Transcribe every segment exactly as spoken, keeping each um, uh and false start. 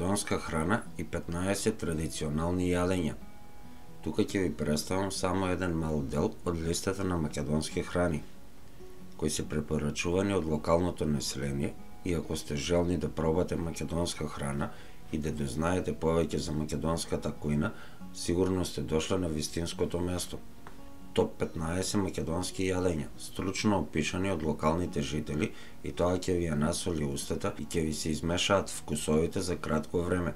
македонска храна и петнаесет традиционални јадења. Тука ќе ви представам само еден мал дел од листата на македонски храни, кои се препорачувани од локалното население, и ако сте желни да пробате македонска храна и да дознаете повеќе за македонската кујна, сигурно сте дошли на вистинското место. Топ петнаесет македонски јадења, стручно опишани од локалните жители, и тоа ќе ви ја насоли устата и ќе ви се измешаат вкусовите за кратко време.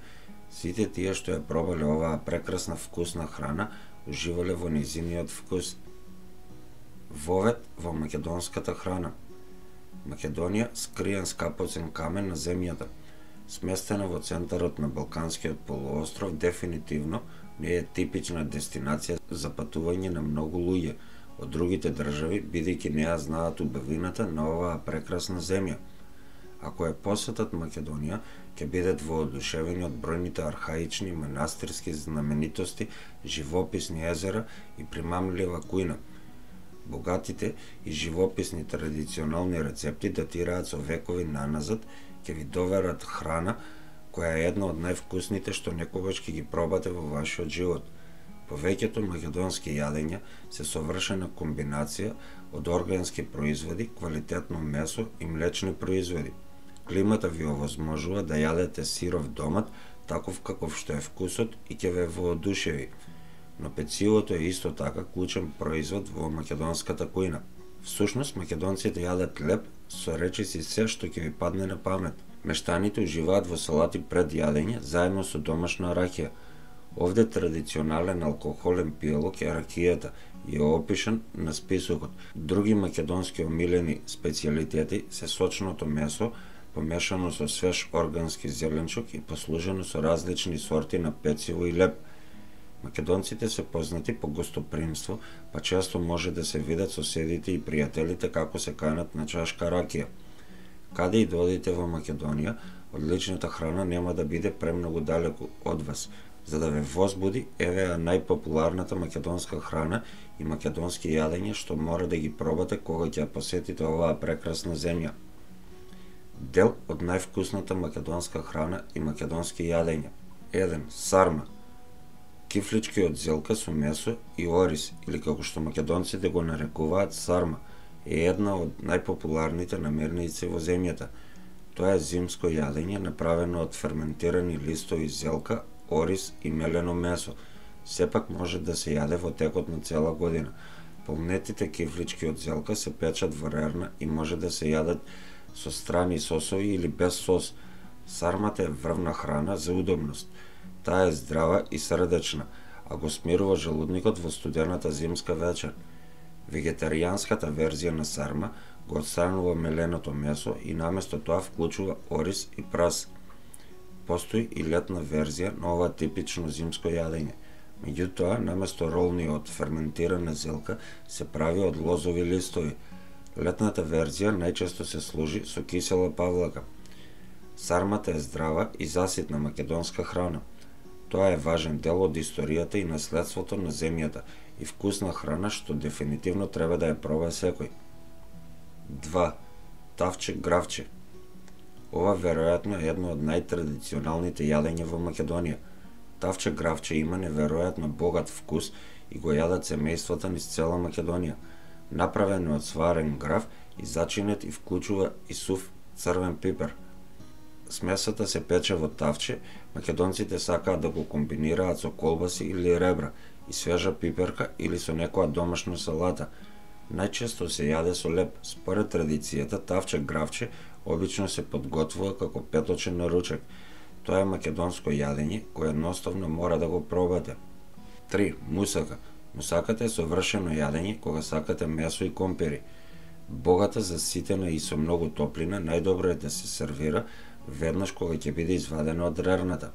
Сите тие што ја пробале оваа прекрасна вкусна храна, уживале во нејзиниот вкус. Вовет во македонската храна. Македонија, скриен скапоцен камен на земјата, сместена во центарот на Балканскиот полуостров, дефинитивно не е типична дестинација за патување на многу луѓе од другите држави, бидејќи не ја знаат убавината на оваа прекрасна земја. Ако ја посетат Македонија, ќе бидат воодушевени од бројните архаични манастирски знаменитости, живописни езера и примамлива кујна. Богатите и живописни традиционални рецепти датираат со векови наназад, ќе ви доверат храна која е една од највкусните што некогаш ќе ги пробате во вашиот живот. Повеќето македонски јадења се совршена комбинација од органски производи, квалитетно месо и млечни производи. Климата ви овозможува да јадете сиров домат, таков каков што е вкусот, и ќе ве воодушеви. Но пецивото е исто така клучен производ во македонската кујна. Всушност, македонците јадат леб со речиси се што ќе ви падне на памет. Мештаните уживаат во салати пред јадење, заедно со домашна ракија. Овде традиционален алкохолен пијалок е ракијата и е опишан на списокот. Други македонски омилени специјалитети се сочното месо, помешано со свеж органски зеленчук и послужено со различни сорти на пecivo и леб. Македонците се познати по гостопримство, па често може да се видат соседите и пријателите како се канат на чашка ракија. Каде и да одите во Македонија, одличната храна нема да биде премногу далеку од вас. За да ве возбуди, еве ја најпопуларната македонска храна и македонски јадења што мора да ги пробате кога ќе ја посетите оваа прекрасна земја. Дел од највкусната македонска храна и македонски јадења. еден. Сарма. Кифлички од зелка со месо и орис, или како што македонците го нарекуваат сарма, е една од најпопуларните намирници во земјата. Тоа е зимско јадење направено од ферментирани листови зелка, орис и мелено месо. Сепак може да се јаде во текот на цела година. Полнетите кифлички од зелка се печат во рерна и може да се јадат со страни сосови или без сос. Сармата е врвна храна за удобност. Таа е здрава и срдечна, а го смирува желудникот во студената зимска вечер. Вегетаријанската верзија на сарма го отстранува меленото месо и наместо тоа вклучува орис и прас. Постои и летна верзија на ова типично зимско јадење. Меѓутоа, наместо ролни од ферментирана зелка, се прави од лозови листови. Летната верзија најчесто се служи со кисела павлака. Сармата е здрава и заситна македонска храна. Тоа е важен дел од историјата и наследството на земјата и вкусна храна што дефинитивно треба да ја проба секој. два. Тавче гравче. Ова веројатно е едно од најтрадиционалните јадења во Македонија. Тавче гравче има неверојатно богат вкус и го јадат семејствата низ цела Македонија. Направен од сварен грав и зачинет и вклучува и сув црвен пипер. Смесата се пече во тавче, македонците сакаат да го комбинираат со колбаси или ребра и свежа пиперка или со некоја домашна салата. Најчесто се јаде со леб. Според традицијата, тавче гравче обично се подготвува како петочен на ручек. Тоа е македонско јадење кое едноставно мора да го пробате. три. Мусака. Мусаката е совршено јадење кога сакате месо и компири. Богата, заситена и со многу топлина, најдобро е да се сервира веднаш кога ќе биде извадена од рерната.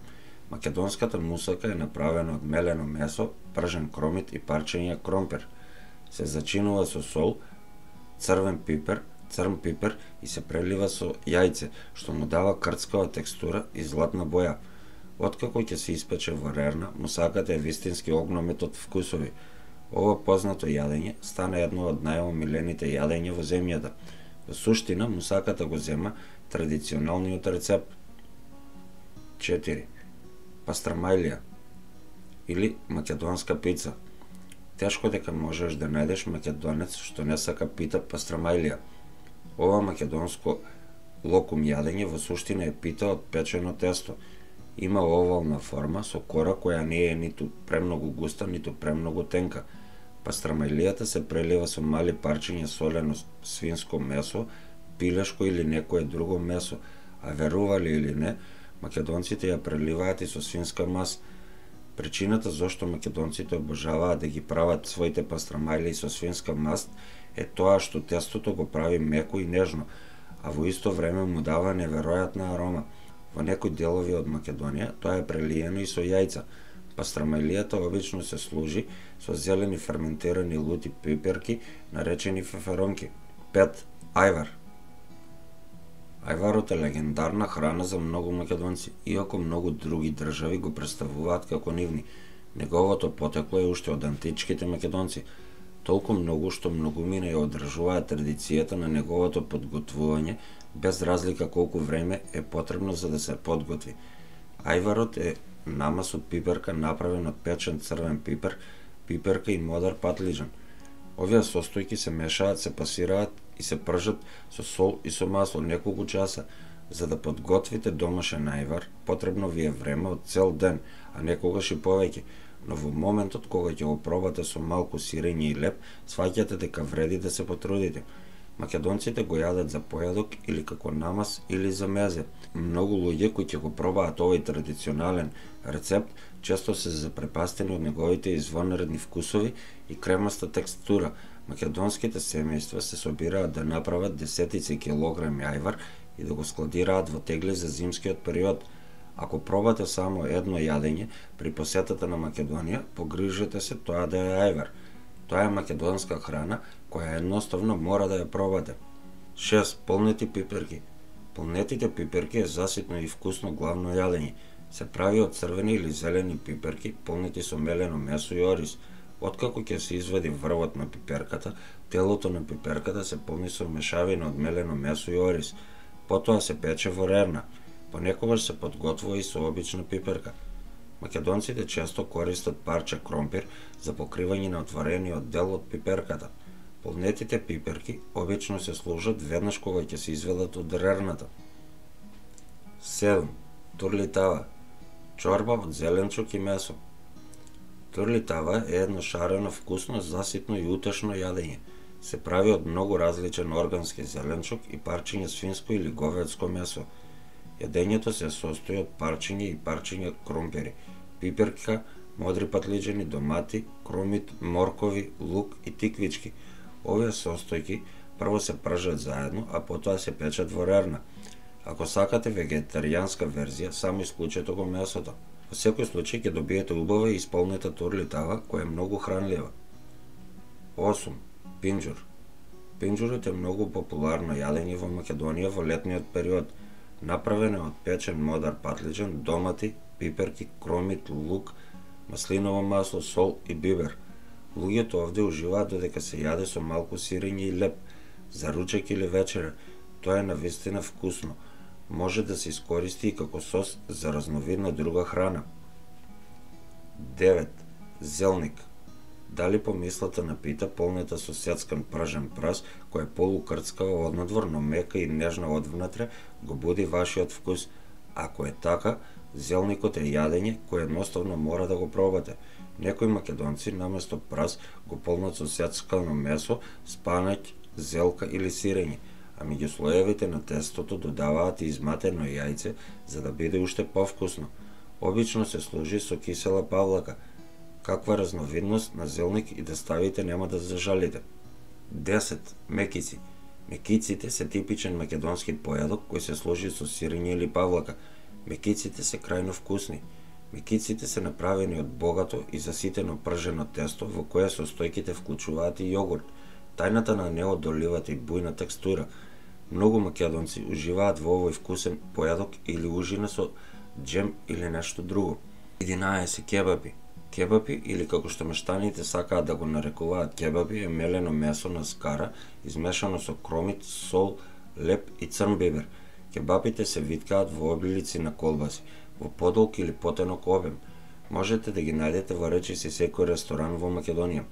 Македонската мусака е направена од мелено месо, пржен кромит и парчења кромпир. Се зачинува со сол, црвен пипер, црн пипер и се прелива со јајце, што му дава крцкава текстура и златна боја. Откако ќе се испече во рерна, мусаката е вистински огномет од вкусови. Ова познато јадење стана едно од најомилените јадења во земјата. Во суштина, мусаката го зема традиционалниот рецепт. четири. Пастрамајлија или македонска пица. Тешко дека можеш да најдеш македонец што не сака пита пастрамајлија. Ова македонско локум јадење во суштина е пита од печено тесто. Има овална форма со кора која не е ниту премногу густа, ниту премногу тенка. Пастрамајлијата се прелива со мали парчиња солено свинско месо, пилешко или некое друго месо, а верували или не, македонците ја преливаат и со свинска мас. Причината зошто македонците обожаваат да ги прават своите пастрамајлии со свинска маст е тоа што тестото го прави меко и нежно, а во исто време му дава неверојатна арома. Во некои делови од Македонија тоа е прелиено и со јајца. Пастрамајлијата обично се служи со зелени ферментирани лути пиперки, наречени феферонки. пет. Ајвар. Ајварот е легендарна храна за многу македонци, иако многу други држави го представуваат како нивни. Неговото потекло е уште од античките македонци, толку многу што многумина ја одржуваат традицијата на неговото подготвување, без разлика колку време е потребно за да се подготви. Ајварот е намаз од пиперка направен од печен црвен пипер, пиперка и модар патлиџан. Овие состојки се мешаат, се пасираат и се пржат со сол и со масло неколку часа. За да подготвите домашен ајвар, потребно ви е време од цел ден, а некогаш и повеќе. Но во моментот кога ќе го пробате со малку сирење и леп, сваќате дека вреди да се потрудите. Македонците го јадат за појадок или како намаз или за мезе. Многу луѓе кои ќе го пробаат овој традиционален рецепт често се запрепастени од неговите извонредни вкусови и кремаста текстура. Македонските семејства се собираат да направат десетици килограми ајвар и да го складираат во тегли за зимскиот период. Ако пробате само едно јадење при посетата на Македонија, погрижете се тоа да е ајвар. Тоа е македонска храна која едноставно мора да ја пробате. шест. Полнети пиперки. Полнетите пиперки е заситно и вкусно главно јадење. Се прави од црвени или зелени пиперки, полнети со мелено месо и ориз. Откако ќе се извади врвот на пиперката, телото на пиперката се полни со мешавина од мелено месо и ориз. Потоа се пече во рерна. Понекогаш се подготвува и со обична пиперка. Македонците често користат парче кромпир за покривање на отворениот дел од пиперката. Полнетите пиперки обично се служат веднаш кога ќе се изведат од рерната. седум. Турлитава. Чорба од зеленчук и месо. Турлитава е едно шарено, вкусно, заситно и утешно јадење. Се прави од многу различен органски зеленчук и парчиња свинско или говедско месо. Јадењето се состои од парчиња и парчиња кромпири, пиперка, модри патлиџани, домати, крумит, моркови, лук и тиквички. Овие состојки прво се пржат заедно, а потоа се печат во рерна. Ако сакате вегетаријанска верзија, само исклучете го месото. Во секој случај ќе добиете убава и исполнета турлитава, која е многу хранлива. осум. Пинџур. Пинџурот е многу популарно јадење во Македонија во летниот период. Направен е од печен модар патлиџан, домати, пиперки, кромит, лук, маслиново масло, сол и бибер. Луѓето овде уживаат додека се јаде со малку сирење и леп, за ручек или вечера. Тоа е навистина вкусно. Може да се искористи и како сос за разновидна друга храна. девет. Зелник. Дали помислата на пита полнета со сецкан пражен прас, која е полукрцкава однадвор, но мека и нежна одвнатре, го буди вашиот вкус. Ако е така, зелникот е јадење кое едноставно мора да го пробате. Некои македонци наместо прас го полнат со сецкано месо, спанаќ, зелка или сирење, а меѓу слоевите на тестото додаваат и изматено јајце за да биде уште повкусно. Обично се служи со кисела павлака. Каква разновидност на зелник и да ставите нема да зажалите. десет. Мекици. Мекиците се типичен македонски појадок кој се служи со сирење или павлака. Мекиците се крајно вкусни. Мекиците се направени од богато и заситено пржено тесто во кое состојките вклучуваат и јогурт. Тајната на неодоливата и бујна текстура. Многу македонци уживаат во овој вкусен појадок или ужина со џем или нешто друго. единаесет. Кебапи. Кебапи, или како што мештаните сакаат да го нарекуваат кебапи, е мелено месо на скара, измешано со кромит, сол, леп и црн бибер. Кебапите се виткаат во облици на колбаси. во подолг или потенок обем. Можете да ги најдете во речиси секој ресторан во Македонија.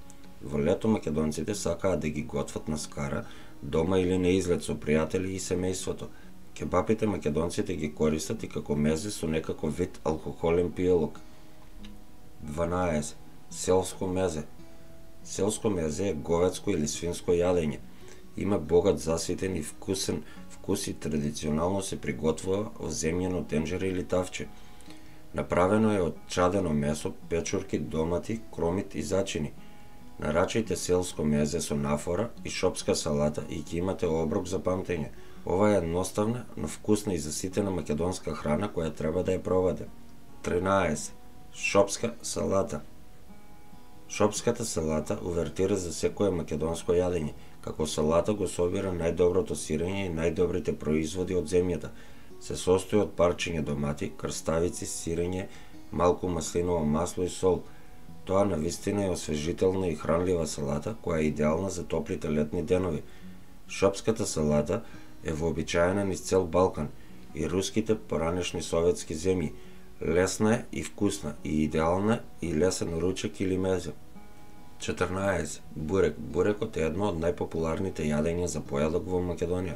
Во лето македонците сакаат да ги готват на скара, дома или на излет со пријатели и семејството. Кебапите македонците ги користат и како мезе со некако вид алкохолен пиелок. дванаесет. Селско мезе. Селско мезе е говедско или свинско јадење. Има богат заситен и вкусен вкус и традиционално се приготвува во земјено тенџере или тавче. Направено е од чадено месо, печурки, домати, кромит и зачини. Нарачајте селско мезе со нафора и шопска салата и ќе имате оброк за памтење. Ова е едноставна, но вкусна и заситена македонска храна која треба да ја пробате. тринаесет. Шопска салата. Шопската салата увертира за секое македонско јадење. Како салата го собира најдоброто сирење и најдобрите производи од земјата. Се состои од парчиња домати, крставици, сирење, малку маслиново масло и сол. Тоа навистина е освежителна и хранлива салата која е идеална за топлите летни денови. Шопската салата е вообичаена низ цел Балкан и руските поранешни советски земји. Лесна е и вкусна и идеална и лесен ручек или мезе. четрнаесет. Бурек. Бурекот е едно од најпопуларните јадења за појадок во Македонија.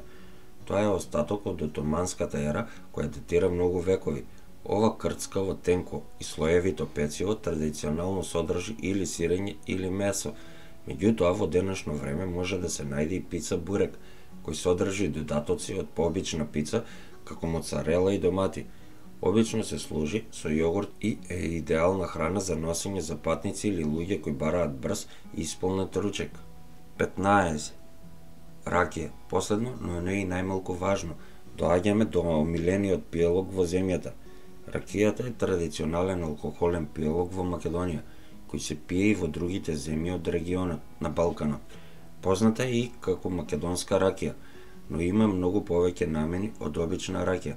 Тоа е остаток од отоманската ера која датира многу векови. Ова крцкаво, тенко и слоевито пециво традиционално содржи или сирење или месо. Меѓутоа во денешно време може да се најде и пица бурек, кој содржи додатоци од пообична пица, како моцарела и домати. Обично се служи со јогурт и е идеална храна за носење за патници или луѓе кои бараат брз и исполнет ручек. петнаесет. Ракија. Последно, но не и најмалку важно, доаѓаме до омилениот пиелок во земјата. Ракијата е традиционален алкохолен пиелок во Македонија, кој се пие и во другите земји од регионот на Балканот. Позната е и како македонска ракија, но има многу повеќе намени од обична ракија.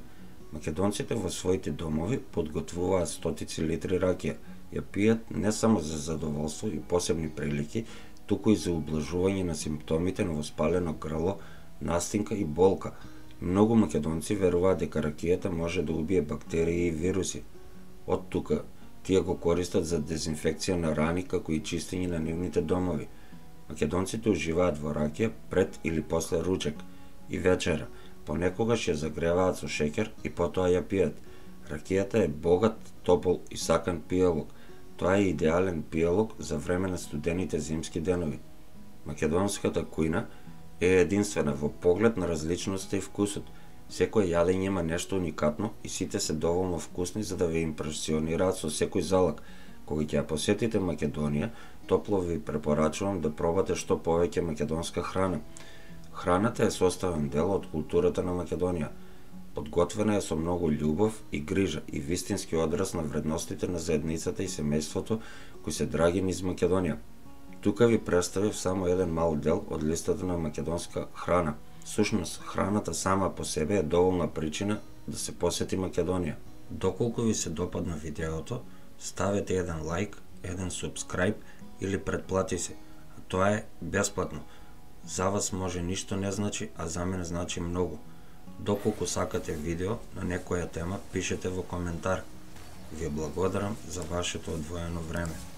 Македонците во своите домови подготвуваат стотици литри ракија. Ја пијат не само за задоволство и посебни прилики, туку и за ублажување на симптомите на воспалено грло, настинка и болка. Многу македонци веруваат дека ракијата може да убие бактерии и вируси. Од тука, тие го користат за дезинфекција на рани како и чистење на нивните домови. Македонците уживаат во ракија пред или после ручек и вечера. Понекогаш ја загреваат со шеќер и потоа ја пијат. Ракијата е богат, топол и сакан пиелок. Тоа е идеален пиелок за време на студените зимски денови. Македонската кујна е единствена во поглед на различноста и вкусот. Секој јадење има нешто уникатно и сите се доволно вкусни за да ве импресионираат со секој залак. Кога ќе ја посетите Македонија, топло ви препорачувам да пробате што повеќе македонска храна. Храната е составен дел од културата на Македонија. Подготвена е со многу љубов и грижа и вистински одраз на вредностите на заедницата и семејството кои се драги низ Македонија. Тука ви представив само еден мал дел од листата на македонска храна. Сушност, храната сама по себе е доволна причина да се посети Македонија. Доколку ви се допадна видеото, ставете еден лайк, еден субскрајб или претплати се. А тоа е бесплатно. За вас може ништо не значи, а за мене значи многу. Доколку сакате видео на некоја тема, пишете во коментар. Ви благодарам за вашето одвоено време.